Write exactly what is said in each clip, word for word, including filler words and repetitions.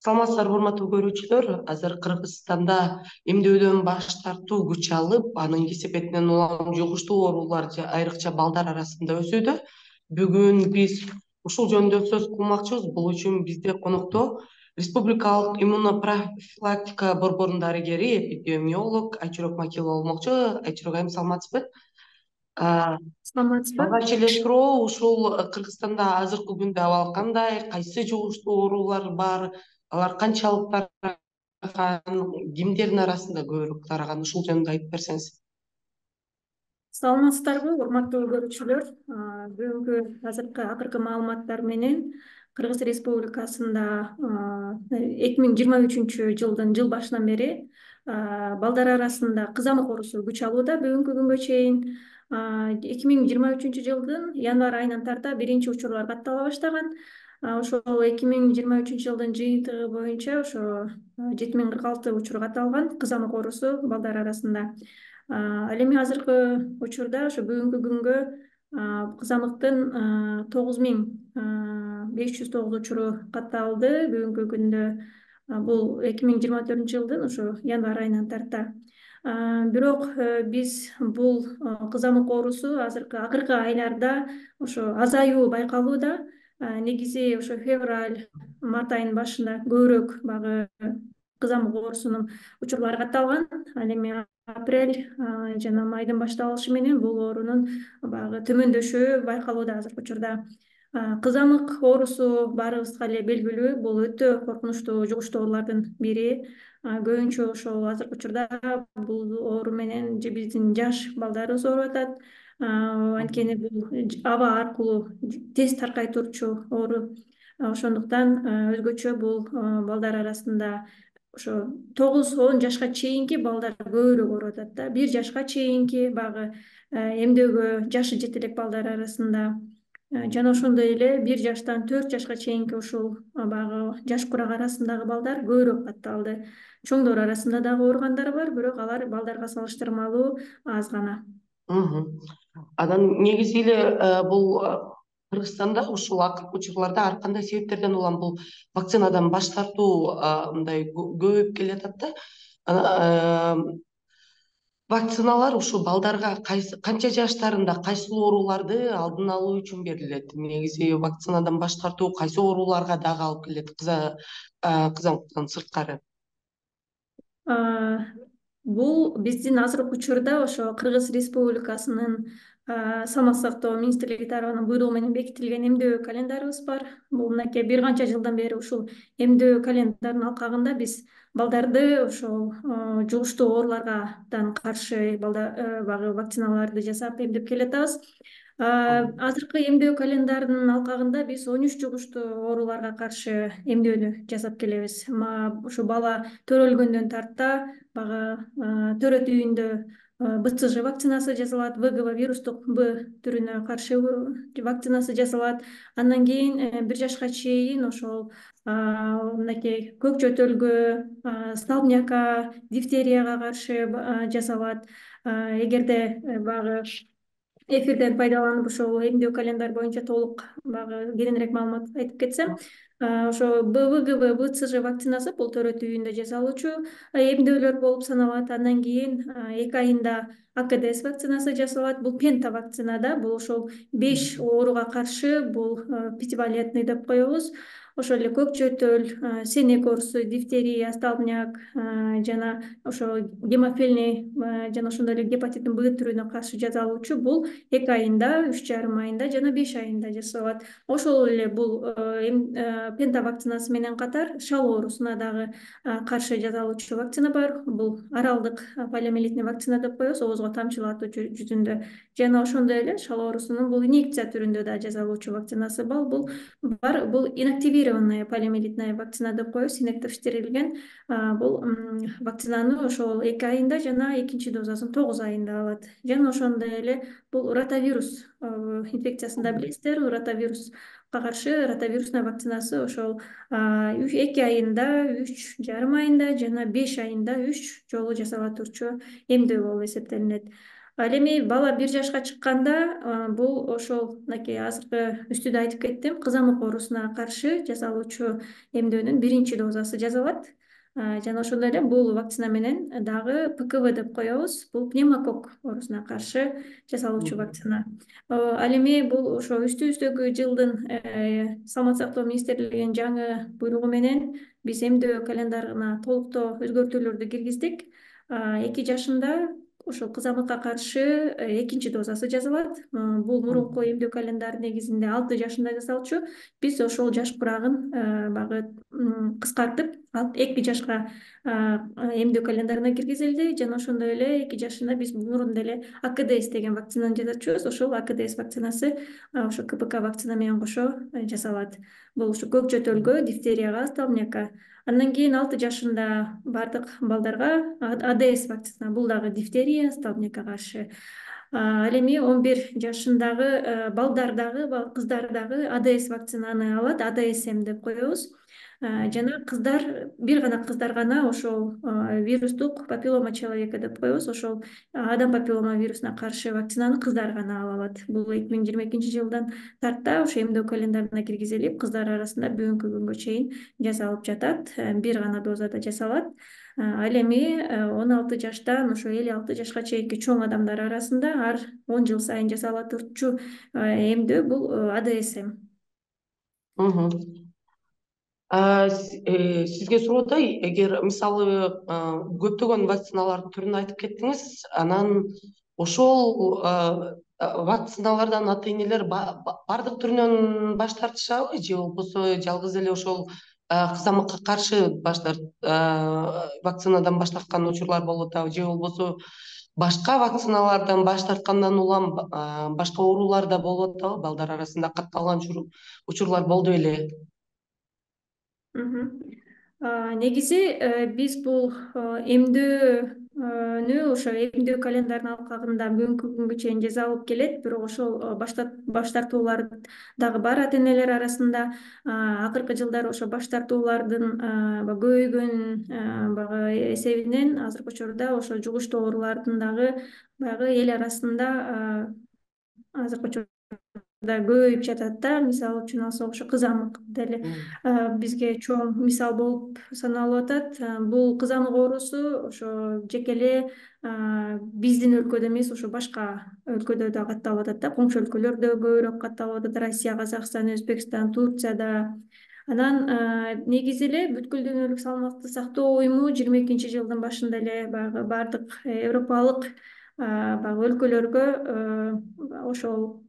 Саламатсыздарбы, урматтуу көрүүчүлөр. Азыр Кыргызстанда эмдөөдөн баш тартуу күч алып, анын кесепетинен улам жугуштуу оорулар айрыкча балдар арасында өсүүдө. Бүгүн биз ушул жөнүндө сөз кылмакчыбыз. Бул үчүн бизде конокто Республикалык иммунопрофилактика борборунун дарыгери, эпидемиолог Айчурок Макилова болмокчу. Айчурок айым, саламатсызбы? Саламатсызбы? Алгач эле суроо, ушул Кыргызстанда азыркы күндө абал кандай, кайсы жугуштуу оорулар бар, алар канчалык тараган, кимдердин арасында көбүрөөк тараган, ушул жөнүндө айтып берсеңиз. Саламатсыздарбы, урматтуу көрүүчүлөр? Бүгүнкү азыркы акыркы маалыматтар менен Кыргыз Республикасында эки миң жыйырма үчүнчү жылдын жыл башынан бери балдар арасында кызамык оорусу күч алууда. Бүгүнкү күнгө чейин эки миң жыйырма үчүнчү жылдын январь айынан тарта биринчи учурлар каттала баштаган. Ошол эки миң жыйырма үчүнчү жылдын жыйынтыгы боюнча ошо жети миң кырк алты учур катталган кызамык оорусу балдар арасында. Ал эми азыркы учурда ошо бүгүнкү күнгө кызамыктын тогуз миң беш жүз тогуз учуру катталды. Бүгүнкү күндө бул эки миң жыйырма төртүнчү жылдын ошо январь айынан тарта. Бирок биз бул кызамык оорусу азыркы акыркы айларда ошо азаюу байкалууда. Негизи ошо февраль, март айынын башында көбүрөөк багы кызамык оорусунун учурлары катталган. Ал эми апрель жана майдын башталышы менен бул оорунун баягы төмөндөшүшү байкалууда азыркы учурда. Кызамык оорусу баарыбызга эле белгилүү, бул өтө коркунучтуу жугуштуу оорулардын бири. Көбүнчө ошол азыркы учурда бул оору менен биздин жаш балдарыбыз ооруп атат. Анткени бул аба аркылуу тез таркай турчу оору. Ошондуктан өзгөчө бул балдар арасында ошо тогуз он жашка чейинки балдар көбүрөөк ооруп атат да. Бир жашка чейинки багы эмдөөгө жашы жете элек балдар арасында жана ошондой эле бир жаштан төрт жашка чейинки ушул багы жаш курак арасындагы балдар көбүрөөк катталды. Чоңдор арасында дагы ооругандар бар, бирок алар балдарга салыштырмалуу аз гана. Анан негизи эле бул Кыргызстанда ушул акыркы учурларда ар кандай себептерден улам бул вакцинадан баш тартуу мындай көбөйүп келатат да. Вакциналар ушул балдарга канча жаштарында кайсыл ооруларды алдын алуу үчүн берилет? Негизи вакцинадан баш тартуу кайсы ооруларга дагы алып келет кызамыктан сырткары? Бул биздин азыркы учурда ошо Кыргыз Республикасынын саламаттык сактоо министрлиги тарабынан буйругу менен бекитилген эмдөө календарыбыз бар. Бул мынакей бир канча жылдан бери ушул эмдөө календарынын алкагында биз балдарды ошол жугуштуу оорулардан каршы багы вакциналарды жасап эмдеп келатабыз. Азыркы эмдөө календарынын алкагында биз он үч жугуштуу ооруларга каршы эмдөөнү жасап келебиз. Ушу бала төрөлгөндөн тарта багы төрөт үйүндө бэ цэ жэ вакцинасы жасалат, вэ гэ вэ вирустук Б түрүнө каршы вакцинасы жасалат. Андан кийин бир жашка чейин ошол мынакей көк чөтөлгө, столбнякка, дифтерияга каршы жасалат. Эгерде багы эфирден пайдаланып ошол эмдөө календарь боюнча толук багы кененирээк маалымат айтып кетсем, ошо вэ гэ вэ, бэ цэ жэ вакцинасы бул төрөт үйүндө жасалуучу эмдөөлөр болуп саналат. Андан кийин эки айында а ка дэ эс вакцинасы жасалат. Бул пента вакцина да, бул ошол беш ооруга каршы, бул пятивалентный деп коебуз. Ошол эле көк чөтөл, сенек оорусу, дифтерия, столбняк жана ошо гемофильный жана ошондой эле гепатиттин Б түрүнө каршы жасалуучу бул эки айында, үч жарым айында жана беш айында жасалат. Ошол эле бул пента вакцинасы менен катар шал оорусуна дагы каршы жасалуучу вакцина бар. Бул аралдык полиомиелитный вакцина деп коебуз, оозго тамчылатуу жүзүндө. Жана ошондой эле шал оорусунун бул инъекция түрүндө да жасалуучу вакцинасы бар. Бул бар, бул инактивированная полиомиелитная вакцина деп коебуз, инактивдештирилген. Бул вакцинаны ошол эки айында жана экинчи дозасын тогуз айында алат. Жана ошондой эле бул ротавирус инфекциясын да билесиздер. Ротавирус каршы ротавирусная вакцинасы ошол эки айында, үч жарым айында жана беш айында үч жолу жасала турчу эмдөө болуп эсептелинет. Ал эми бала бир жашка чыкканда бул ошол мынакей азыркы үстүдө айтып кеттим, кызамык оорусуна каршы жасалуучу эмдөөнүн биринчи дозасы жасалат. Жана ошондой эле бул вакцина менен дагы П К В деп коебуз. Бул пневмококк оорусуна каршы жасалуучу вакцина. Ал эми бул ошо үстүбүздөгү жылдын Саламаттык сактоо министрлигинин жаңы буйругу менен биз эмдөө календарына толуктоо өзгөртүүлөрдү киргиздик. Эки жашында ошол кызамыкка каршы экинчи дозасы жасалат. Бул мурунку эмдөө календарь негизинде алты жашында жасалчу. Биз ошол жаш курагын багы кыскартып, эки жашка эмдөө календарына киргизилди. Жана ошондой эле эки жашында биз мурун деле А К Д С деген вакцинаны жасачубуз. Ошол А К Д С вакцинасы ошо К П К вакцина менен кошо жасалат. Бул ушу көк жөтөлгө, дифтерияга, столбнякка. Андан кийин алты жашында бардык балдарга А Д С вакцина, бул дагы дифтерия, столбнякка каршы. Ал эми он бир жашындагы балдар дагы, кыздар дагы А Д С вакцинаны алат, А Д С М деп коебуз. Жана кыздар, бир гана кыздар гана ошол вирустук папиллома человека деп коебуз, ошол адам папиллома вирусуна каршы вакцинаны кыздар гана ала алат. Бул эки миң жыйырма экинчи жылдан тарта ошо эмдөө календарына киргизилип, кыздар арасында бүгүнкү күнгө чейин жасалып жатат. Бир гана дозада жасалат. Ал эми он алты жаштан ошо элүү алты жашка чейинки чоң адамдар арасында ар он жыл сайын жасала турчу эмдөө бул А Д С М. Сизге суроо, эгер мисалы көптөгөн вакциналардын түрүн айтып кеттиңиз, анан ошол вакциналардан ата энелер бардык түрүнөн баш тартышабы, же болбосо жалгыз эле ошол кызамыкка каршы баш вакцинадан баш тарткан учурлар болуп атабы, же болбосо башка вакциналардан баш тарткандан улам башка оорулар да болуп атабы, балдар арасында катталган учурлар болду беле? Негизи биз бул эмдөөнү ошо эмдөө календарынын алкагында бүгүнкү күнгө чейин жасалып келет, бирок ошол баш тартуулар дагы бар ата энелер арасында. Акыркы жылдары ошо баш тартуулардын көбөйгөн баягы эсебинен азыркы учурда ошо жугуштуу оорулардын дагы баягы эл арасында азыркы учурда көбөйүп жатат да. Мисалы үчүн алсак, ошо кызамык деле бизге чоң мисал болуп саналып атат. Бул кызамык оорусу ошо жеке эле биздин өлкөдө эмес, ошо башка өлкөдө да катталып атат да. Коңшу өлкөлөрдө көбүрөөк катталып атат: Россия, Казакстан, Өзбекстан, Турцияда. Анан негизи эле бүткүл дүйнөлүк саламаттык сактоо уюму жыйырма экинчи жылдын башында эле баягы бардык европалык баягы өлкөлөргө ошол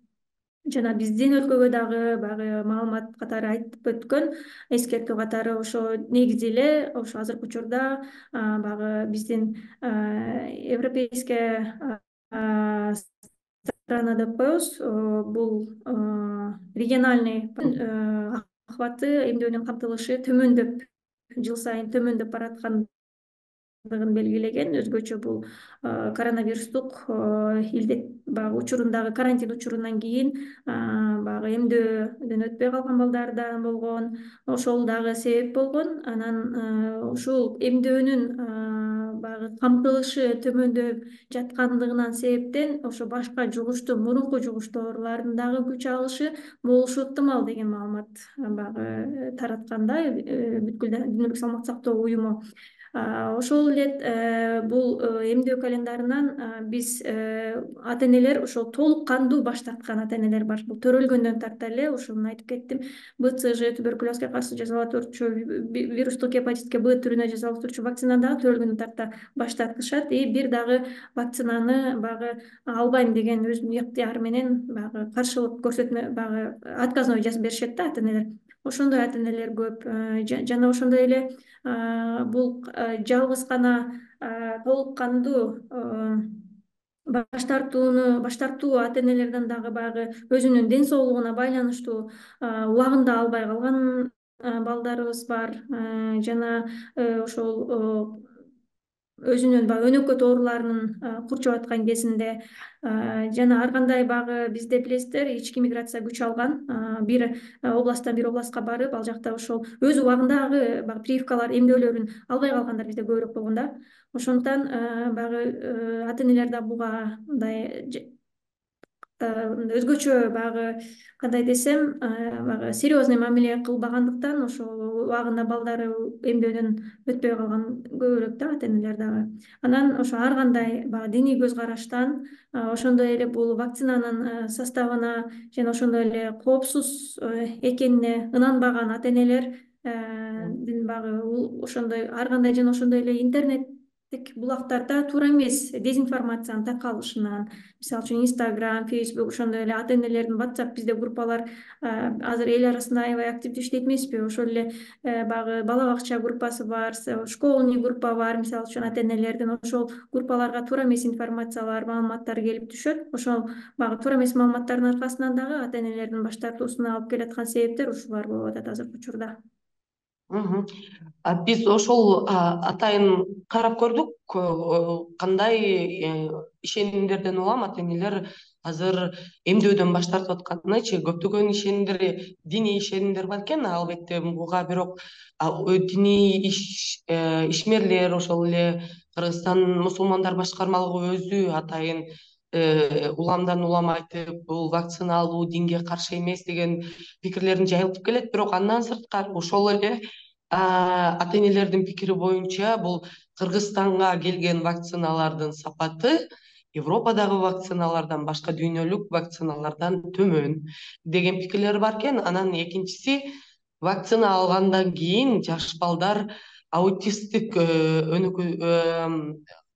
жана биздин өлкөгө дагы баягы маалымат катары айтып өткөн, эскертүү катары ошо негизи эле ошо азыркы учурда баягы биздин европейская страна деп коебуз. Бул региональный охваты, эмдөөнүн камтылышы төмөндөп, жыл сайын төмөндөп бараткан белгилеген. Өзгөчө бул коронавирустук илдет баягы учурундагы карантин учурунан кийин баягы эмдөөдөн өтпөй калган балдар да болгон, ошол дагы себеп болгон. Анан ушул эмдөөнүн баягы камтылышы төмөндөп жаткандыгынан себептен ошо башка жугуштуу, мурунку жугуштуу оорулардын дагы күч алышы болушу ыктымал деген маалымат баягы таратканда бүткүл дүйнөлүк саламаттык сактоо уюму. Ошол эле бул эмдөө календарынан биз ата энелер ошол толук кандуу баш тарткан ата энелер бар. Бул төрөлгөндөн тарта эле ошону айтып кеттим. Б Ц Ж, туберкулезге каршы жасала турчу, вирустук гепатитке Б түрүнө жасала турчу вакцинаны дагы төрөлгөндөн тарта баш тартышат. И бир дагы вакцинаны баягы албайм деген өзүнүн ыктыяры менен баягы каршылык көрсөтмө, баягы отказной жазып беришет да ата энелер. Ошондой ата энелер көп. Жана ошондой эле бул жалгыз гана толук кандуу баш тартууну баш тартуу ата энелерден дагы баягы өзүнүн ден соолугуна байланыштуу убагында албай калган балдарыбыз бар. Жана ошол өзүнүн баягы өнөкөт ооруларынын курчап аткан кезинде жана ар кандай баягы бизде билесиздер ички миграция күч алган, бир областтан бир областка барып ал жакта ошол өз убагындагы баягы прививкалар эмдөөлөрүн албай калгандар бизде көбүрөөк болгон да. Ошондуктан баягы ата энелер да буга мындай өзгөчө баягы кандай десем баягы серьезный мамиле кылбагандыктан ошол убагында балдары эмдөөдөн өтпөй калган көбүрөөк да ата энелер дагы. Анан ошо ар кандай баягы диний көз караштан ошондой эле бул вакцинанын составына жана ошондой эле коопсуз экенине ынанбаган ата энелер баягы ошондой ар кандай жана ошондой эле интернеттик булактарда туура эмес дезинформациянын таркалышынан, мисалы үчүн Instagram, Facebook, ошондой эле ата энелердин WhatsApp бизде группалар азыр эл арасында аябай активдүү иштейт эмеспи? Ошол эле баягы бала бакча группасы бар, школьный группа бар, мисалы үчүн ата энелердин ошол группаларга туура эмес информациялар, маалыматтар келип түшөт. Ошол баягы туура эмес маалыматтардын аркасынан дагы ата энелердин баш тартуусуна алып келаткан себептер ушулар болуп атат азыркы учурда. Биз ошол атайын карап көрдүк, кандай ишенимдерден улам ата энелер азыр эмдөөдөн баш тартып атканынычы. Көптөгөн ишенимдер, диний ишенимдер бар экен, албетте буга бирок диний ишмерлер, ошол эле Кыргызстан мусулмандар башкармалыгы өзү атайын уламдан улам айтып, бул вакцина алуу динге каршы эмес деген пикирлерин жайылтып келет. Бирок андан сырткары ошол эле ата энелердин пикири боюнча бул Кыргызстанга келген вакциналардын сапаты Европадагы вакциналардан, башка дүйнөлүк вакциналардан төмөн деген пикирлер бар экен. Анан экинчиси, вакцина алгандан кийин жаш балдар аутисттик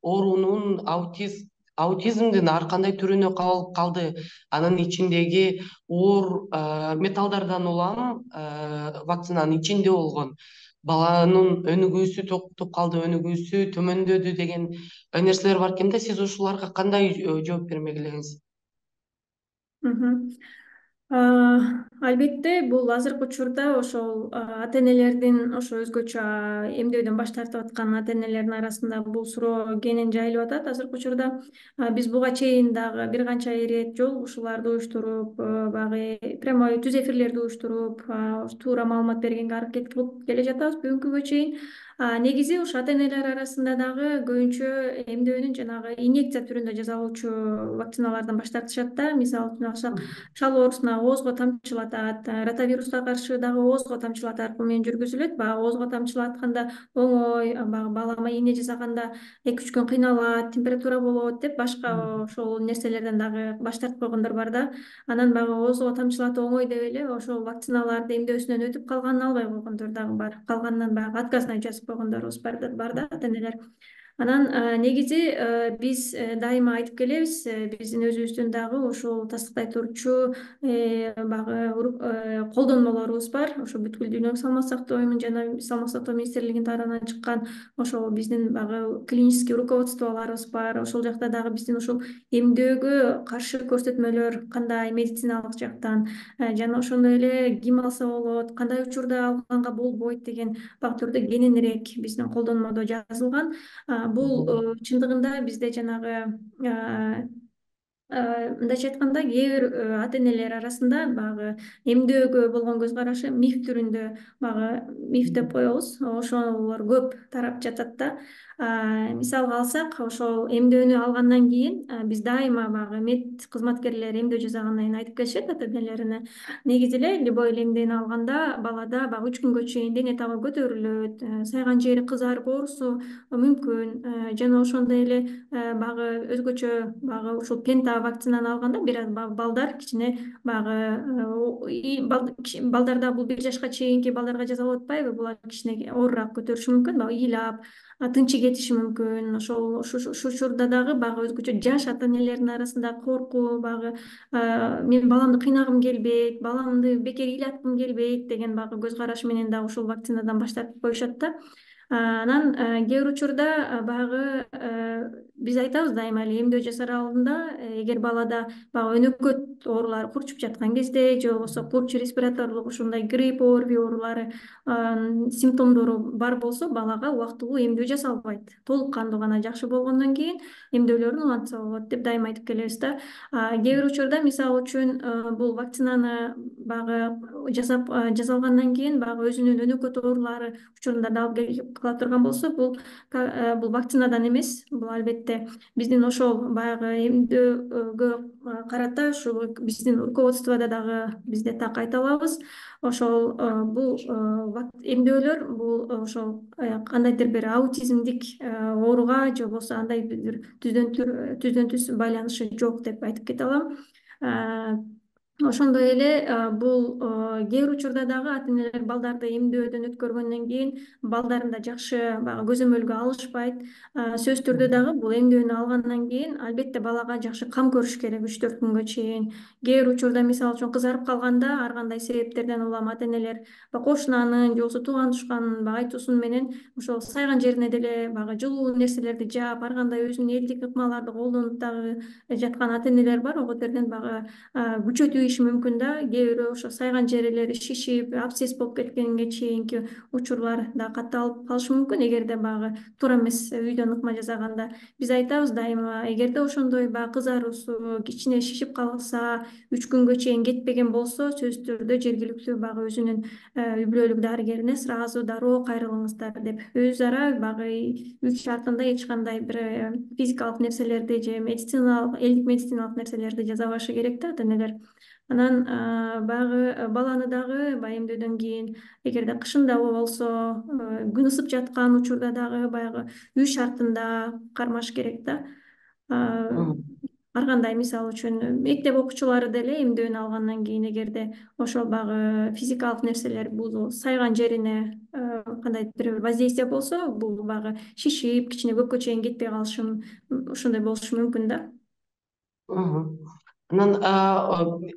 оорунун аутизмдин ар кандай түрүнө кабылып калды. Анын ичиндеги оор металлдардан улам вакцинанын ичинде болгон. Баланын өнүгүүсү токтоп калды, өнүгүүсү төмөндөдү деген нерселер бар экен да. Сиз ушуларга кандай жооп бермек элеңиз? Албетте бул азыркы учурда ошол ата энелердин ошо өзгөчө эмдөөдөн баш тартып аткан ата энелердин арасында бул суроо кенен жайылып атат азыркы учурда. Биз буга чейин дагы бир канча ирет жолугушууларды уюштуруп, баягы прямой түз эфирлерди уюштуруп, туура маалымат бергенге аракет кылып келе жатабыз бүгүнкүгө чейин. Негизи ушу ата энелер арасында дагы көбүнчө эмдөөнүн жанагы инъекция түрүндө жасалуучу вакциналардан баш тартышат да. Мисалы үчүн шал оорусуна оозго тамчылатат, ротавируска каршы дагы оозго тамчылатуу аркылуу менен жүргүзүлөт. Баягы оозго тамчылатканда оңой, баягы балама ийне жасаганда эки үч күн кыйналат, температура болот деп башка ошол нерселерден дагы баш тартып койгондор бар да. Анан баягы оозго тамчылатуу оңой деп эле ошол вакциналарды эмдөөсүнөн өтүп калганын албай койгондор дагы бар. Калганынан баягы отказный жазып койгондорубуз бар да ата энелер. Анан негизи биз дайыма айтып келебиз, биздин өзүбүздүн дагы ушул тастыктай турчу баягы колдонмолорубуз бар. Ошо бүткүл дүйнөлүк саламаттык сактоо уюмунун жана саламаттык сактоо министрлигинин тарабынан чыккан ошол биздин баягы клинический руководстволорубуз бар. Ошол жакта дагы биздин ушул эмдөөгө каршы көрсөтмөлөр кандай медициналык жактан жана ошондой эле ким алса болот, кандай учурда алганга болбойт деген фактордо кененирээк биздин колдонмодо жазылган. Бул чындыгында бизде жанагы мындайча айтканда кээ бир ата энелер арасында баягы эмдөөгө болгон көз карашы миф түрүндө, баягы миф деп коебуз, ошолор көп тарап жатат да. Мисалга алсак, ошол эмдөөнү алгандан кийин биз дайыма баягы мед кызматкерлери эмдөө жасагандан кийин айтып келишет ата энелерине. Негизи эле любой эле эмдөөнү алганда балада баягы үч күнгө чейин дене табы көтөрүлөт, сайган жери кызарып оорусу мүмкүн, жана ошондой эле баягы өзгөчө баягы ушул пента вакцинаны алганда бир аз балдар кичине баягы балдарда бул бир жашка чейинки балдарга жасалып атпайбы, булар кичине оорураак көтөрүшү мүмкүн, баягы ыйлап, тынчы кетиши мүмкүн. Ошол ушул учурда дагы баягы өзгөчө жаш ата энелердин арасында коркуу, баягы мен баламды кыйнагым келбейт, баламды бекер ыйлаткым келбейт деген баягы көз караш менен дагы ушул вакцинадан баш тартып коюшат да. Анан кээ бир учурда баягы биз айтабыз дайыма эле эмдөө жасар алдында эгер балада баягы өнөкөт оорулары курчуп жаткан кезде же болбосо курч респираторлук ушундай грипп, орви оорулары симптомдору бар болсо балага убактылуу эмдөө жасалбайт. Толук кандуу гана жакшы болгондон кийин эмдөөлөрүн улантса болот деп дайыма айтып келебиз да. Кээ бир учурда мисалы үчүн бул вакцинаны баягы жасап жасалгандан кийин баягы өзүнүн өнөкөт оорулары учурунда дал келип кала турган болсо бул бул вакцинадан эмес, бул албетте биздин ошол баягы эмдөөгө карата ушул биздин руководстводо дагы бизде так кайталабыз. Ошол бул эмдөөлөр бул ошол кандайдыр бир аутизмдик ооруга же болбосо андай бир түздөн түз байланышы жок деп айтып кете алам. Ошондой эле бул кээ бир учурда дагы ата энелер балдарды эмдөөдөн өткөргөндөн кийин балдарында жакшы баягы көзөмөлгө алышпайт. Сөзсүз түрдө дагы бул эмдөөнү алгандан кийин албетте балага жакшы кам көрүш керек үч төрт күнгө чейин. Кээ бир учурда мисалы үчүн кызарып калганда ар кандай себептерден улам ата энелер кошунанын же болбосо тууган тушкандын баягы айтуусу менен ошол сайган жерине деле баягы жылуу нерселерди жаап, ар кандай өзүнүн элдик ыкмаларды колдонуп дагы жаткан ата энелер бар. Ого терден баягы күчөтүп мүмкүн да, кээ бирөө ошо сайган жерлери шишип, абсцесс болуп кеткенге чейинки учурлар да катталып калышы мүмкүн эгерде баягы туура эмес үйдөн ыкма жасаганда. Биз айтабыз дайыма эгерде ошондой баягы кызаруусу, кичине шишип калса, үч күнгө чейин кетпеген болсо, сөзсүз түрдө жергиликтүү баягы өзүнүн үй бүлөлүк дарыгерине сразу дароо кайрылыңыздар деп өз ара баягы үй шартында эч кандай бир физикалык нерселерди же медициналык, элдик медициналык нерселерди жасабашы керек да ата энелер. Анан баягы баланы дагы баягы эмдөөдөн кийин эгерде кышында болсо, күн ысып жаткан учурда дагы баягы үй шартында кармаш керек да. Ар кандай мисалы үчүн мектеп окуучулары деле эмдөөнү алгандан кийин эгерде ошол баягы физикалык нерселер бул сайган жерине кандайдыр бир воздействие болсо, бул баягы шишип, кичине көккө чейин кетпей калышы ошондой болушу мүмкүн да. Анан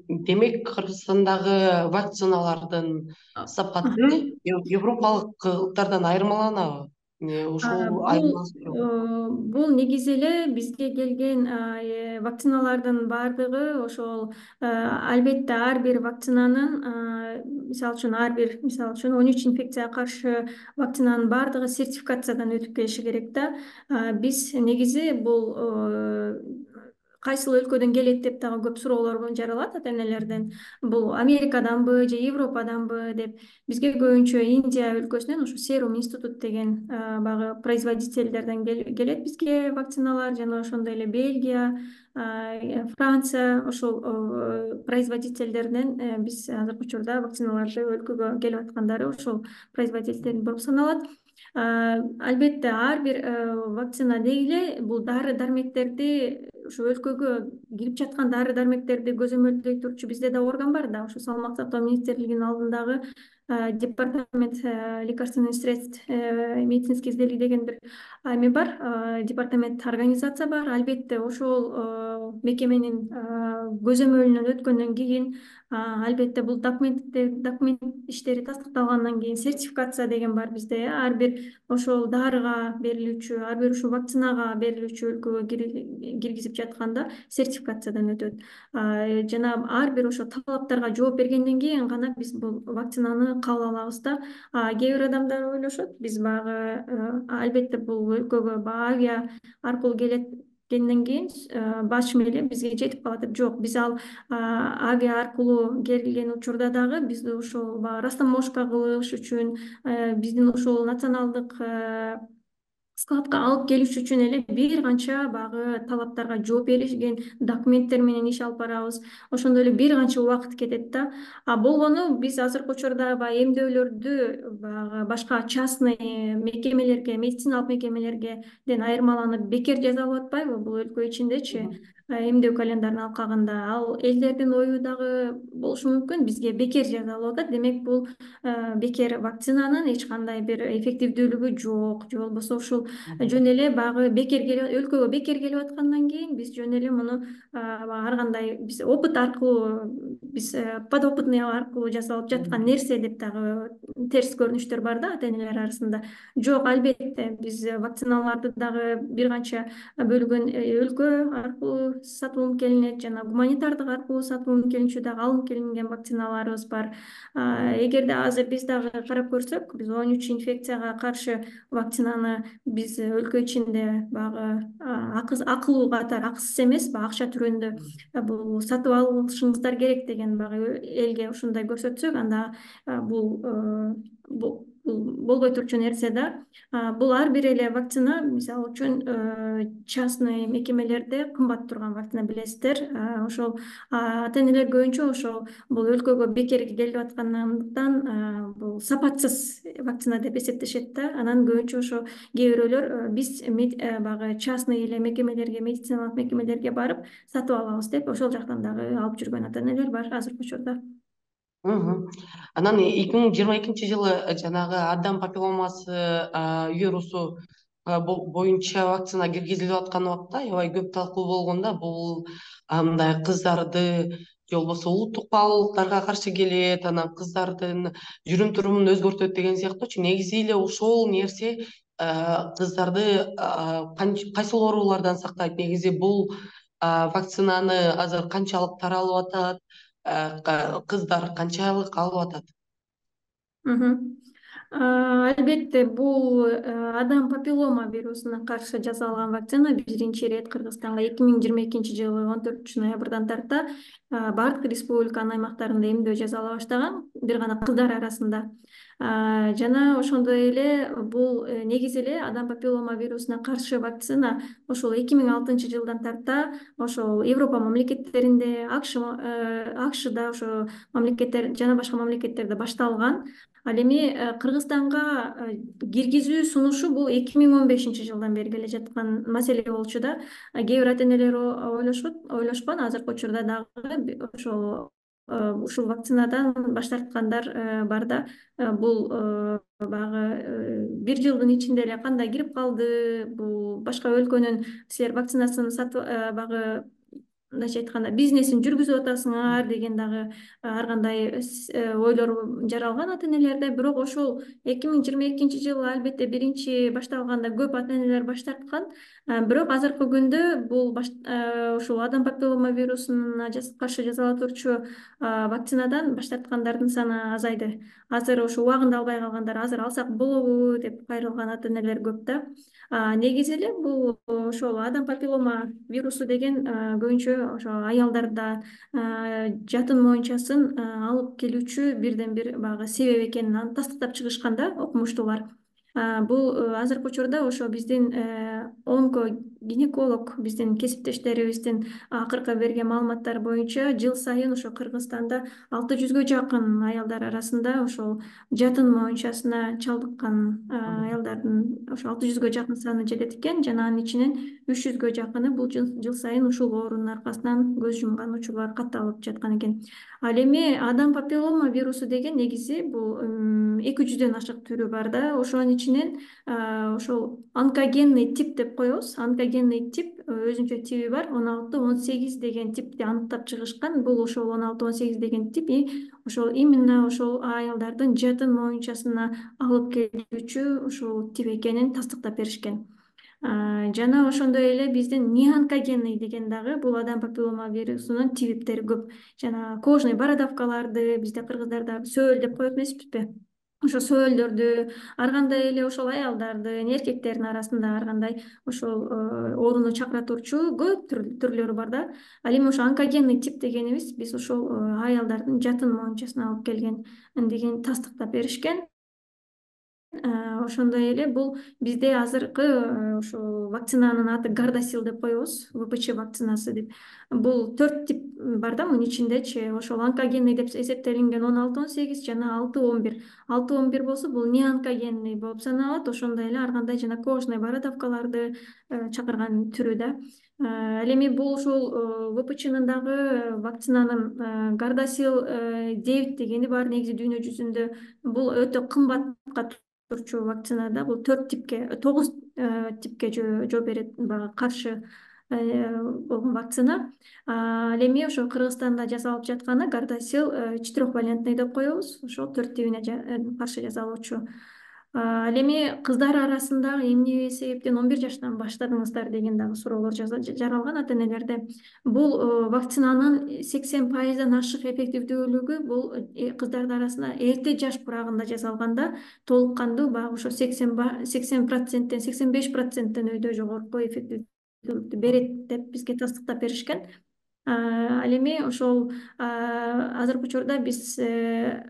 демек Кыргызстандагы вакциналардын сапаты европалыктардан айырмаланабы? Ушул Бул негизи эле бизге келген вакциналардын баардыгы ошол албетте ар бир вакцинанын мисалы үчүн ар бир мисалы үчүн он үч инфекцияга каршы вакцинанын баардыгы сертификациядан өтүп келиши керек да. Биз негизи бул кайсыл өлкөдөн келет деп дагы көп суроолор жаралат ата энелерден. Бул Америкаданбы же Европаданбы деп. Бизге көбүнчө Индия өлкөсүнөн ушу Serum Institute деген баягы производительдерден келет бизге вакциналар, жана ошондой эле Бельгия, Франция ошол производительдерден биз азыркы учурда вакциналарды өлкөгө келип аткандары ошол производитель болуп саналат. Албетте ар бир вакцина дегиле бул дары дармектерди ушу өлкөгө кирип жаткан дары дармектерди көзөмөлдөй турчу бизде да орган бар да, ушу Саламаттык сактоо министрлигинин алдындагы департамент лекарственных средств медицинских изделий деген бир эме бар, департамент организация бар. Албетте ошол мекеменин көзөмөлүнөн өткөндөн кийин албетте бул документтер документ иштери тастыкталгандан кийин сертификация деген бар бизде. Ар бир ошол дарыга берилүүчү, ар бир ушул вакцинага берилүүчү өлкөгө киргизип жатканда сертификациядан өтөт. Жана ар бир ошо талаптарга жооп бергенден кийин гана биз бул вакцинаны кабыл алабыз да. Кээ бир адамдар ойлошот, биз баягы албетте бул өлкөгө авиа аркылуу келеткенден кийин башым эле бизге жетип калат деп. Жок, биз ал авиа аркылуу келген учурда дагы бизди ошол баягы растаможка кылыш үчүн, биздин ушул националдык складка алып келиш үчүн эле бир канча баягы талаптарга жооп берилген документтер менен иш алып барабыз. Ошондой эле бир канча убакыт кетет да. А болгону биз азыркы учурда баягы эмдөөлөрдү баягы башка частный мекемелерге, медициналык мекемелергеден айырмаланып бекер жасалып атпайбы бул өлкө ичиндечи? эмдөө календарын алкагында. Ал элдердин ою дагы болушу мүмкүн, бизге бекер жасалып атат, демек бул бекер вакцинанын эч кандай бир эффективдүүлүгү жок, же болбосо ушул жөн эле баягы бекер келип өлкөгө бекер келип аткандан кийин биз жөн эле муну ар кандай биз опыт аркылуу, биз подопытный аркылуу жасалып жаткан нерсе деп дагы терс көрүнүштөр бар да ата энелер арасында. Жок, албетте биз вакциналарды дагы бир канча бөлгөн өлкө аркылуу сатып келинет, жана гуманитардык аркылуу сатып келинчү дагы алынып келинген вакциналарыбыз бар. Эгерде азыр биз дагы карап көрсөк, биз он үч инфекцияга каршы вакцинаны биз өлкө ичинде баягы акылуу катары, акысыз эмес, баягы акча түрүндө бул сатып алышыңыздар керек деген баягы элге ушундай көрсөтсөк, анда бул бул болбой турчу нерсе да. Бул ар бир эле вакцина, мисалы үчүн частный мекемелерде кымбат турган вакцина, билесиздер. Ошол ата энелер көбүнчө ошол бул өлкөгө бекер келип аткандыктан бул сапатсыз вакцина деп эсептешет да. Анан көбүнчө ошо кээ бирөөлөр биз баягы частный эле мекемелерге, медициналык мекемелерге барып сатып алабыз деп ошол жактан дагы алып жүргөн ата энелер бар азыркы учурда. Анан эки миң жыйырма экинчи жылы жанагы адам папилломасы вирусу боюнча вакцина киргизилип аткан убакта аябай көп талкуу болгон да. Бул мындай кыздарды же болбосо улуттук баалуулуктарга каршы келет, анан кыздардын жүрүм турумун өзгөртөт деген сыяктуучу. Негизи эле ошол нерсе кыздарды кайсыл оорулардан сактайт? Негизи бул вакцинаны азыр канчалык таралып атат? Кыздар канчалык алып атат? Албетте, бул адам папиллома вирусуна каршы жасалган вакцина биринчи ирет Кыргызстанга эки миң жыйырма экинчи жылы он төртүнчү ноябрдан тарта бардык республиканын аймактарында эмдөө жасала баштаган, бир гана кыздар арасында. Жана ошондой эле бул негизи эле адам папиллома вирусуна каршы вакцина ошол эки миң алтынчы жылдан тарта ошол Европа мамлекеттеринде, АКШда ошо мамлекеттер жана башка мамлекеттерде башталган. Ал эми Кыргызстанга киргизүү сунушу бул эки миң он бешинчи жылдан бери келе жаткан маселе болчу да. Кээ бир ата энелер ойлошот, ойлошкон азыркы учурда дагы ошол ушул вакцинадан баш тарткандар бар да. Бул баягы бир жылдын ичинде эле кандай кирип калды, бул башка өлкөнүн силер вакцинасын сатып баягы мындайча айтканда бизнесин жүргүзүп атасыңар деген дагы ар кандай ойлор жаралган ата энелерде. Бирок ошол эки миң жыйырма экинчи жылы албетте биринчи башталганда көп ата энелер баш тарткан. Бирок азыркы күндө бул ушул адам папиллома вирусуна каршы жасала турчу вакцинадан баш тарткандардын саны азайды. Азыр ошо убагында албай калгандар азыр алсак болобу деп кайрылган ата энелер көп да. Негизи эле бул ошол адам папиллома вирусу деген көбүнчө ошо аялдарда жатын моюнчасын алып келүүчү бирден бир баягы себеп экенин тастыктап чыгышкан да окумуштуулар. Бул азыркы учурда ошо биздин онкогинеколог биздин кесиптештерибиздин акыркы берген маалыматтары боюнча жыл сайын ошо Кыргызстанда алты жүзгө жакын аялдар арасында ошол жатын моюнчасына чалдыккан аялдардын ошо алты жүзгө жакын саны жетет экен, жана анын ичинен үч жүзгө жакыны бул жыл сайын ушул оорунун аркасынан көз жумган учурлар катталып жаткан экен. Ал эми адам папиллома вирусу деген негизи бул эки жүздөн ашык түрү бар да. Ошонун ичинен ошол онкогенный тип деп коебуз. Онкогенный тип өзүнчө тиби бар. он алты он сегиз деген типти аныктап чыгышкан. Бул ошол он алты он сегиз деген тип ошол именно ошол аялдардын жатын моюнчасына алып келүүчү ушул тип экенин тастыктап беришкен. Жана ошондой эле биздин неонкогенный деген дагы бул адам папиллома вирусунун типтери көп. Жана кожный бородавкаларды бизде кыргыздарда сөөл деп коет эмеспизби? Ошо сөөлдөрдү, ар кандай эле ошол аялдардын, эркектердин арасында ар кандай ошол ооруну чакыра турчу көп түрлөрү бар да. Ал эми ошо онкогенный тип дегенибиз биз ошол аялдардын жатын моюнчасына алып келген деген тастыктап беришкен. Ошондой эле бул бизде азыркы ушул вакцинанын аты Gardasil деп коебуз, вэ пэ че вакцинасы деп. Бул төрт тип бар да, мунун ичиндечи ошол онкогенный деп эсептелинген он алты он сегиз жана алты он бир. алты он бир болсо бул неонкогенный болуп саналат. Ошондой эле ар кандай жана кожный бородавкаларды чакырган түрү да. Ал эми бул ушул вэ пэ ченин дагы вакцинанын Gardasil девять дегени бар негизи дүйнө жүзүндө. Бул өтө кымбатка турчу вакцина да. Бул төрт типке, тогуз типке жооп берет, баягы каршы болгон вакцина. Ал эми ошо Кыргызстанда жасалып жатканы Gardasil четырехвалентный деп коебуз. Ошол төрт тибине каршы жасалуучу. Ал эми кыздар арасында эмне себептен он бир жаштан баштадыңыздар деген дагы суроолор жаралган ата энелерде. Бул вакцинанын сексен пайыздан ашык эффективдүүлүгү бул кыздардын арасында эрте жаш курагында жасалганда толук кандуу баягы ошо сексен проценттен сексен беш проценттен өйдө жогорку эффективдүүлүктү берет деп бизге тастыктап беришкен. Ал эми ошол азыркы учурда биз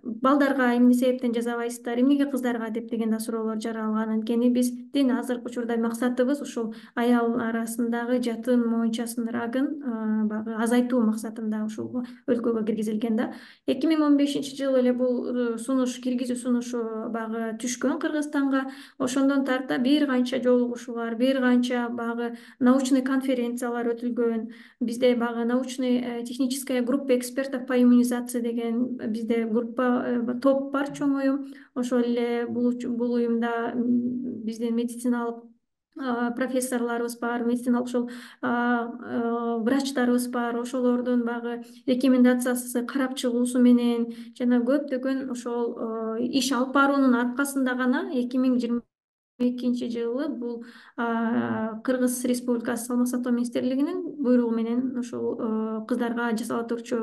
балдарга эмне себептен жасабайсыздар, эмнеге кыздарга деп деген да суроолор жаралган. Анткени биздин азыркы учурда максатыбыз ушул аял арасындагы жатын моюнчасынын рагын баягы азайтуу максатында ушул өлкөгө киргизилген да. эки миң он бешинчи жылы эле бул сунуш, киргизүү сунушу баягы түшкөн Кыргызстанга. Ошондон тарта бир канча жолугушуулар, бир канча баягы научный конференциялар өтүлгөн. Бизде баягы научный техническая группа экспертов по иммунизации деген бизде группа, топ бар, чоң уюм. Ошол эле бул уюмда биздин медициналык профессорлорубуз бар, медициналык ошол врачтарыбыз бар. Ошолордун баягы рекомендациясы, карап чыгуусу менен жана көптөгөн ошол иш алып баруунун аркасында гана эки миң жыйырма экинчи жылы бул Кыргыз Республикасы Саламат сактоо министрлигинин буйругу менен ушул кыздарга жасала турчу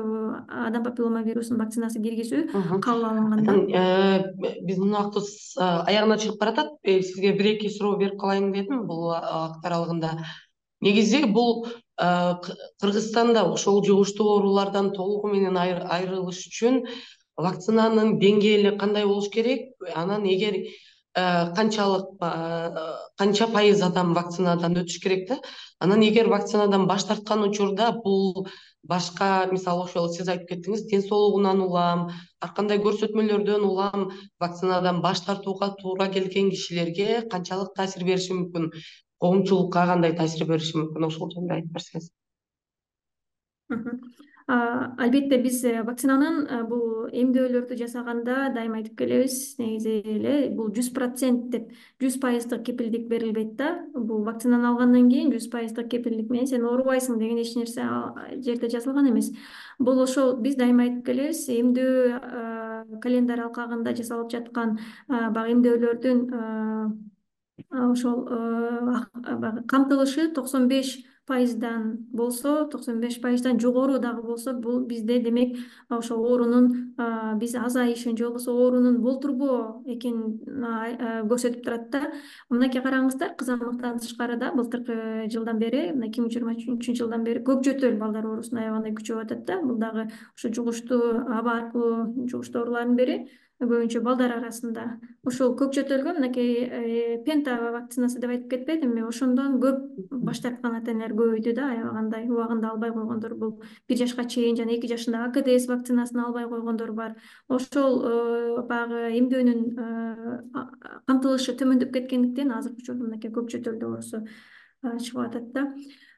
адам папиллома вирусунун вакцинасы киргизүү кабыл алынган да. Биздин убактыбыз аягына чыгып баратат. Сизге бир эки суроо берип калайын дедим бул убакыт аралыгында. Негизи бул Кыргызстанда ошол жугуштуу оорулардан толугу менен айрылыш үчүн вакцинанын деңгээли кандай болуш керек? Анан эгер канчалык канча пайыз адам вакцинадан өтүш керек да. Анан эгер вакцинадан баш тарткан учурда бул башка, мисалы ошол сиз айтып кеттиңиз, ден соолугунан улам, ар кандай көрсөтмөлөрдөн улам вакцинадан баш тартууга туура келген кишилерге канчалык таасир бериши мүмкүн? Коомчулукка кандай таасир бериши мүмкүн? Ошол жөнүндө айтып берсеңиз. Албетте биз вакцинанын бул эмдөөлөрдү жасаганда дайыма айтып келебиз, негизи эле бул жүз процент деп жүз пайыздык кепилдик берилбейт да. Бул вакцинаны алгандан кийин жүз пайыздык кепилдик менен сен оорубайсың деген эч нерсе жерде жазылган эмес. Бул ошол биз дайыма айтып келебиз, эмдөө календарь алкагында жасалып жаткан баягы эмдөөлөрдүн ошол камтылышы токсон беш пайыздан болсо, токсон беш пайыздан жогору дагы болсо, бул бизде демек ошол оорунун биз азайышын же болбосо оорунун болтурбоо экенин көрсөтүп турат да. Мынакей караңыздар, кызамыктан тышкары да былтыркы жылдан бери, мына эки миң жыйырма үчүнчү жылдан бери көп жөтөл балдар оорусунун аябагандай күчөп атат да. Бул дагы ушу жугуштуу аба аркылуу жугуштуу оорулардын бири. Көбүнчө балдар арасында ушул көк жөтөлгө мынакей пента вакцинасы деп айтып кетпедимби? Ошондон көп баш тарткан ата энелер көбөйдү да, аябагандай убагында албай койгондор, бул бир жашка чейин жана эки жашында а ка дэ эс вакцинасын албай койгондор бар. Ошол баягы эмдөөнүн камтылышы төмөндөп кеткендиктен азыркы учурда мынакей көк жөтөлдү оорусу чыгып атат да.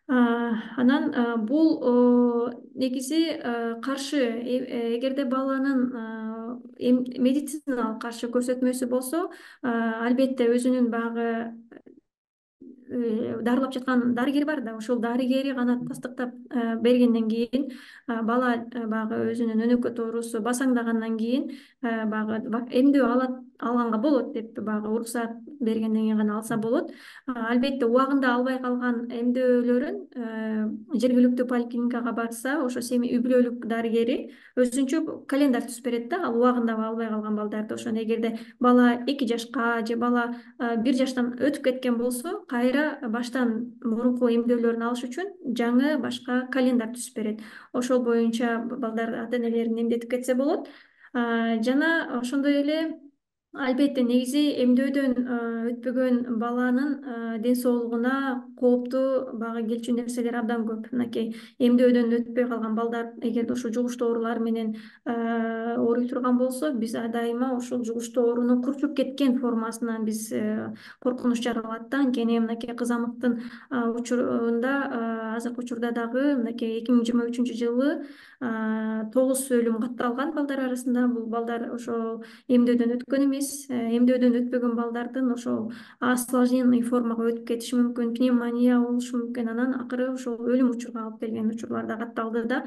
Анан бул негизи каршы, эгерде баланын медициналык каршы көрсөтмөсү болсо, албетте өзүнүн баягы дарылап жаткан дарыгери бар да, ошол дарыгери гана тастыктап бергенден кийин бала баягы өзүнүн өнөкөт оорусу басаңдагандан кийин баягы эмдөө алат алганга болот деп баягы уруксаат бергенден кийин гана алса болот. Албетте убагында албай калган эмдөөлөрүн жергиликтүү поликлиникага барса, ошо семи үй бүлөлүк дарыгери өзүнчө календарь түзүп берет да, ал убагында албай калган балдарды. Ошону эгерде бала эки жашка же бала бир жаштан өтүп кеткен болсо, кайра баштан мурунку эмдөөлөрүн алыш үчүн жаңы башка календарь түзүп берет. Ошол боюнча балдар ата энелерин эмдетип кетсе болот. Жана ошондой эле Албетте, негизи эмдөөдөн өтпөгөн баланын ден соолугуна кооптуу бага келчү нерселер абдан көп. Мынакей эмдөөдөн өтпөй калган балдар эгерде ушул жугуштуу оорулар менен ооруй турган болсо, биз ар дайыма ушул жугуштуу оорунун курчуп кеткен формасынан биз коркунуч жаралат да. Анткени мынакей кызамыктын учурунда, азыркы учурда дагы мынакей эки миң жыйырма үчүнчү жылы тогуз өлүм катталган балдар арасында. Бул балдар ошол эмдөөдөн өткөн эмес. Эмдөөдөн өтпөгөн балдардын ошол осложненный формага өтүп кетиши мүмкүн, пневмония болушу мүмкүн. Анан акыры ошол өлүм учурга алып келген учурлар да катталды да.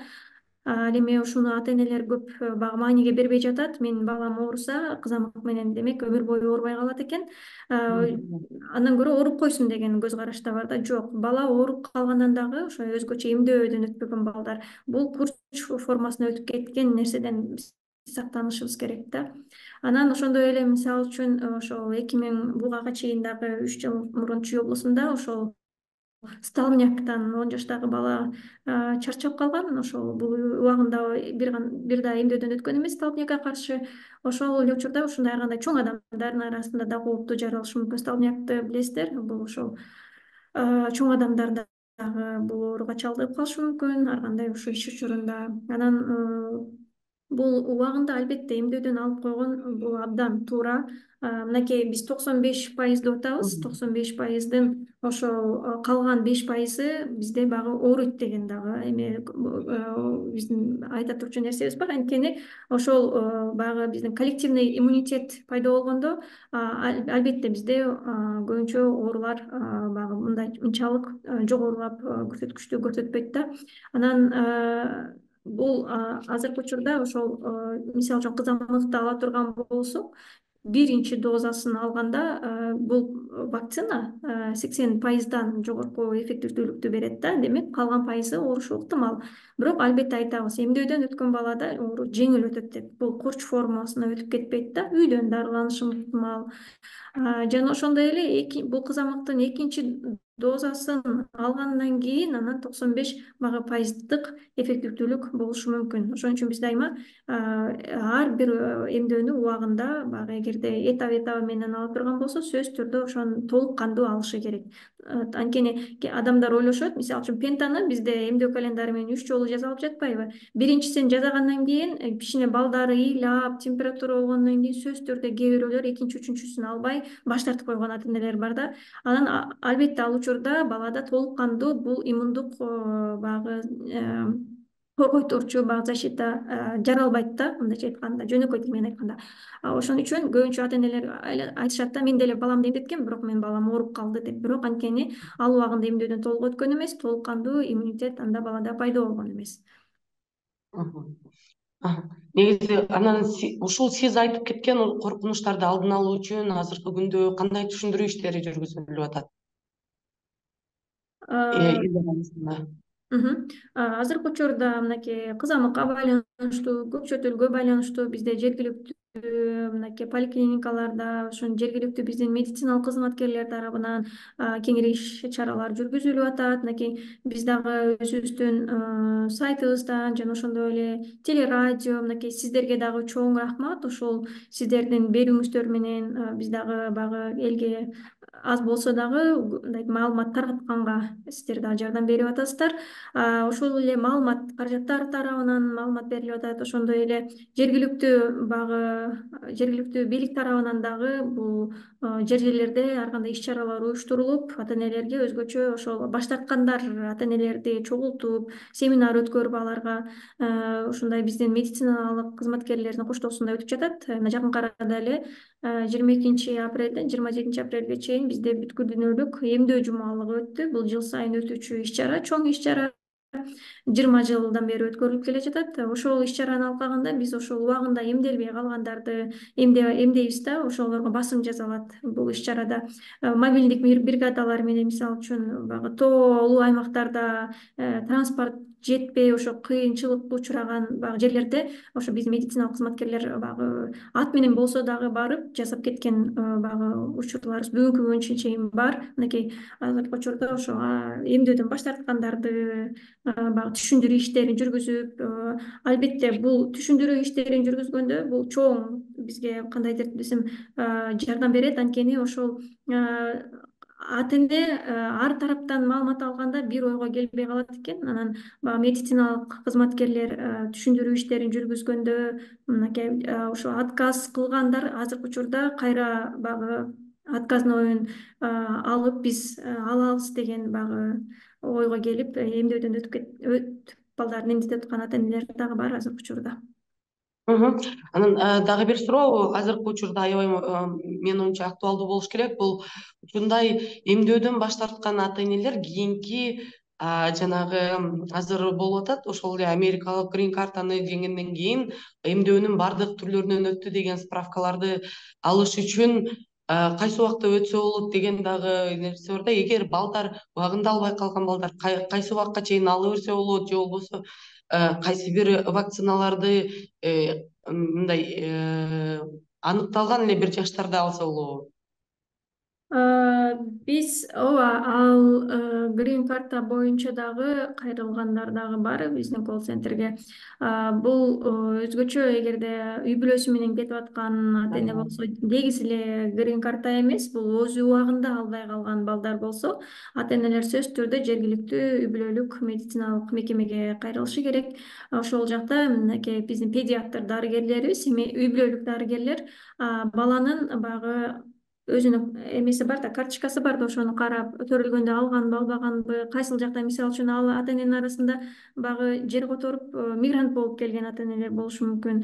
Ал эми ушуну ата энелер көп багы мааниге бербей жатат. Менин балам ооруса, кызамык менен демек өмүр бою оорубай калат экен. Андан көрө ооруп койсун деген көз караш да бар да. Жок, бала ооруп калгандан дагы ошо өзгөчө эмдөөдөн өтпөгөн балдар бул курч формасына өтүп кеткен нерседен сактанышыбыз керек да. Анан ошондой эле мисалы үчүн ошол эки миң буга чейин дагы үч жыл мурун Чүй облусунда ошол столбняктан он жаштагы бала чарчап калган. Ошол бул убагында бир бир да эмдөөдөн өткөн эмес столбнякка каршы. Ошол эле учурда ушундай ар кандай чоң адамдардын арасында да кооптуу жаралышы мүмкүн. Столбнякты билесиздер, бул ошол чоң адамдар дагы бул ооруга чалдыгып калышы мүмкүн ар кандай ушул иш учурунда. Анан бул убагында албетте эмдөөдөн алып койгон бул абдан туура. Мынакей биз токсон беш пайыз деп атабыз. токсон беш пайыздын ошол калган беш пайызы бизде багы ооруйт деген дагы эме биздин айта турчу нерсебиз бар. Анткени ошол баягы биздин коллективный иммунитет пайда болгондо албетте бизде көбүнчө оорулар баягы мындай мынчалык жогорулап көрсөткүчтү көрсөтпөйт да. Анан бул азыркы учурда ошол мисалы үчүн кызамыкты ала турган болсок, биринчи дозасын алганда бул вакцина сексен пайыздан жогорку эффективдүүлүктү берет да. Демек калган пайызы оорушу ыктымал. Бирок албетте айтабыз, эмдөөдөн өткөн балада оору жеңил өтөт деп. Бул курч формасына өтүп кетпейт да. Үйдөн дарыланышы ыктымал. Жана ошондой эле бул кызамыктын экинчи дозасын алгандан кийин анан токсон беш багы пайыздык эффективдүүлүк болушу мүмкүн. Ошон үчүн биз дайыма ар бир эмдөөнү убагында баягы эгерде этап этабы менен ала турган болсо, сөзсүз түрдө ошону толук кандуу алышы керек. Анткени адамдар ойлошот, мисалы үчүн пентаны бизде эмдөө календары менен үч жолу жазалып жатпайбы? Биринчисин жазагандан кийин кичине балдары ыйлап, температура болгондон кийин сөзсүз түрдө кээ бирөөлөр экинчи, үчүнчүсүн албай баш тартып койгон ата энелер бар да. Анан албетте ал учурда балада толук кандуу бул иммундук баягы коргойторчу баягы защита жаралбайт да, мындайча айтканда, жөнөкөй тил менен айтканда. Ошон үчүн көбүнчө ата энелер айтышат да, мен деле баламды эмдеткем, бирок менин балам ооруп калды деп. Бирок анткени ал убагында эмдөөдөн толук өткөн эмес, толук кандуу иммунитет анда балада пайда болгон эмес. Негизи анан ушул сиз айтып кеткен коркунучтарды алдын алуу үчүн азыркы күндө кандай түшүндүрүү иштери жүргүзүлүп атат? Азыркы учурда мынакей кызамыкка байланыштуу, көкчө төлгө байланыштуу бизде жергиликтүү мынакей поликлиникаларда, ошон жергиликтүү биздин медициналык кызматкерлер тарабынан кеңири иш чаралар жүргүзүлүп атат. Мынакей биз дагы өзүбүздүн сайтыбыздан жана ошондой эле телерадио, мынакей сиздерге дагы чоң рахмат. Ошол сиздердин берүүңүздөр менен биз дагы баягы элге аз болсо дагы мындай маалымат таркатканга сиздер дагы жардам берип атасыздар. Ошол эле маалымат каражаттар тарабынан маалымат берилип атат. Ошондой эле жергиликтүү багы жергиликтүү бийлик тарабынан дагы бул жер жерлерде ар кандай иш чаралар уюштурулуп, ата энелерге өзгөчө ошол баш тарткандар ата энелерди чогултуп, семинар өткөрүп аларга ушундай биздин медициналык кызматкерлердин коштоосунда өтүп жатат. Жакынкы арада эле жыйырма экинчи апрелден жыйырма жетинчи апрелге чейин бизде бүткүл дүйнөлүк эмдөө жумалыгы өттү. Бул жыл сайын өтүүчү иш чара, чоң иш чара. жыйырма жылдан бери өткөрүлүп келе жатат. Ошол иш чараны алкагында биз ошол убагында эмделбей калгандарды эмдейбиз да, ошолорго басым жасалат бул иш чарада. Мобилдик бригадалар менен мисалы үчүн баягы тоолуу аймактарда транспорт жетпей, ошо кыйынчылыкка учураган баягы жерлерде ошо биздин медициналык кызматкерлер баягы ат менен болсо дагы барып жасап кеткен баягы учурларыбыз бүгүнкү күнгө чейин бар. Мынакей азыркы учурда ошо эмдөөдөн баш тарткандарды баягы түшүндүрүү иштерин жүргүзүп, албетте бул түшүндүрүү иштерин жүргүзгөндө бул чоң бизге кандайдыр десем жардам берет. Анткени ошол ата эне ар тараптан маалымат алганда бир ойго келбей калат экен. Анан баягы медициналык кызматкерлер түшүндүрүү иштерин жүргүзгөндө мынакей ошо отказ кылгандар азыркы учурда кайра баягы отказнойун алып биз алабыз деген баягы ойго келип эмдөөдөн өтүп балдарын эмдетип аткан ата энелер дагы бар азыркы учурда. Анан дагы бир суроо азыркы учурда аябай менин оюмча актуалдуу болуш керек. Бул ушундай эмдөөдөн баш тарткан ата энелер кийинки жанагы азыр болуп атат, ошол эле америкалык грин картаны жеңгенден кийин эмдөөнүн баардык түрлөрүнөн өттү деген справкаларды алыш үчүн кайсы убакта өтсө болот деген дагы нерсе бар да. Эгер балдар убагында албай калган балдар кайсы убакка чейин ала берсе болот, же болбосо кайсы бир вакциналарды мындай аныкталган эле бир жаштарда алса болобу? Биз ооба ал грин карта боюнча дагы кайрылгандар дагы бар биздин колл центрге. Бул өзгөчө эгерде үй бүлөсү менен кетип аткан ата эне болсо, негизи эле грин карта эмес, бул өз убагында албай калган балдар болсо, ата энелер сөзсүз түрдө жергиликтүү үй бүлөлүк медициналык мекемеге кайрылышы керек. Ошол жакта мынакей биздин педиатр дарыгерлерибиз, үй бүлөлүк дарыгерлер баланын баягы өзүнүн эмеси бар да, карточкасы бар да, ошону карап төрөлгөндө алганбы, албаганбы, кайсыл жакта, мисалы үчүн ал ата эненин арасында баягы жер которуп мигрант болуп келген ата энелер болушу мүмкүн.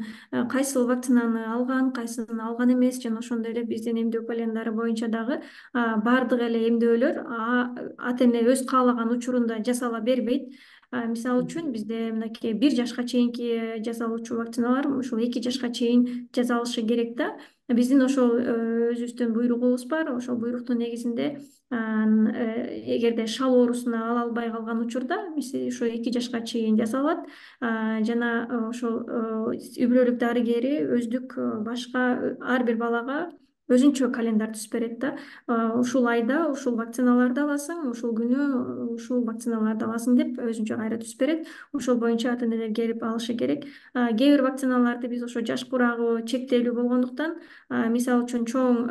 Кайсыл вакцинаны алган, кайсысын алган эмес, жана ошондой эле биздин эмдөө календару боюнча дагы баардык эле эмдөөлөр ата эне өз каалаган учурунда жасала бербейт. Мисалы үчүн бизде мынакей бир жашка чейинки жасалуучу вакциналар ушул эки жашка чейин жасалышы керек да. Биздин ошол өзүбүздүн буйругубуз бар. Ошол буйруктун негизинде эгерде шал оорусуна ала албай калган учурда ошо эки жашка чейин жасалат. Жана ошол үй бүлөлүк дарыгери өздүк башка ар бир балага өзүнчө календар түзүп берет да. Ушул айда ушул вакциналарды аласың, ушул күнү ушул вакциналарды аласың деп өзүнчө кайра түзүп берет. Ошол боюнча ата энелер келип алышы керек. Кээ бир вакциналарды биз ошо жаш курагы чектелүү болгондуктан, мисалы үчүн чоң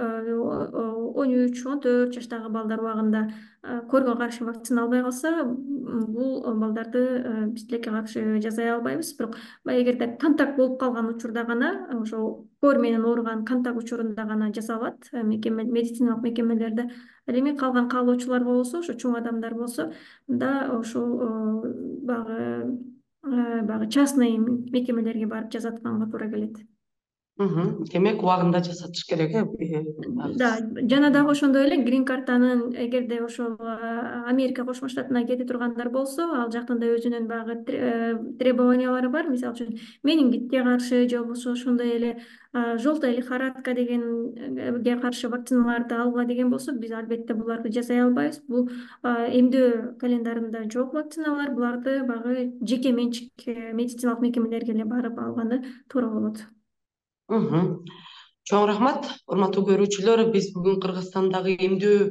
он үч он төрт жаштагы балдар убагында корго каршы вакцина албай калса, бул балдарды биз тилекке каршы жасай албайбыз. Бирок эгерде контакт болуп калган учурда гана, ошол кор менен ооруган контакт учурунда гана жасалат медициналык мекемелерде. Ал эми калган каалоочулар болсо, ошо чоң адамдар болсо да ошол баягы баягы частный мекемелерге барып жасатканга туура келет. Демек убагында жасатыш керек, э? Да, жана дагы ошондой эле грин картанын эгерде ошол Америка Кошмо Штатына кете тургандар болсо, ал жактын да өзүнүн баягы требованиялары бар. Мисалы үчүн менингитке каршы, же болбосо ошондой эле желтая лихорадка дегенге каршы вакциналарды алгыла деген болсо, биз албетте буларды жасай албайбыз. Бул эмдөө календарында жок вакциналар, буларды баягы жеке менчик медициналык мекемелерге эле барып алганы туура болот. Чоң рахмат, урматтуу көрүүчүлөр. Биз бүгүн Кыргызстандагы эмдөө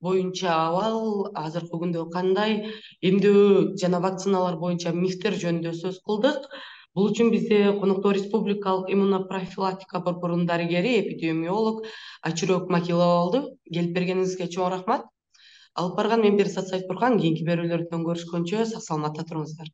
боюнча абал, азыркы күндө кандай, эмдөө жана вакциналар боюнча мифтер жөнүндө сөз кылдык. Бул үчүн бизде конокто Республикалык иммунопрофилактика борборунун дарыгери, эпидемиолог Айчүрөк Макилова болду. Келип бергениңизге чоң рахмат. Алып барган мен Перизат Сайтбурхан. Кийинки берүүлөрдөн көрүшкөнчө сак саламатта туруңуздар.